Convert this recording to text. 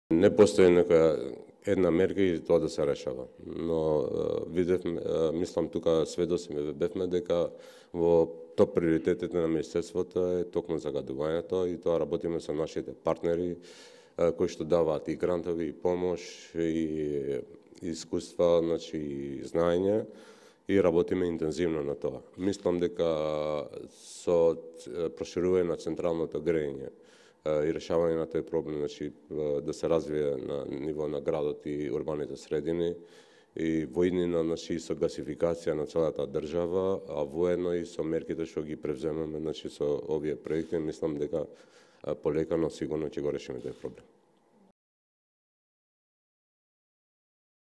Не постои некоја една мерка и тоа да се решава. Но мислам тука сведоци бевме дека во топ приоритетите на Министерството е токму загадувањето и тоа работиме со нашите партнери кои што даваат и грантови, и помош, и искуства, значи и знаење, и работиме интензивно на тоа. Мислам дека со проширување на централното грејење и решавање на тој проблем, значи да се развие на ниво на градот и урбаните средини, и воеднина, значи со гасификација на целата држава, а воедно и со мерките што ги превземаме, значи со овие проекти, мислам дека полека, но сигурно ќе го решиме тој проблем.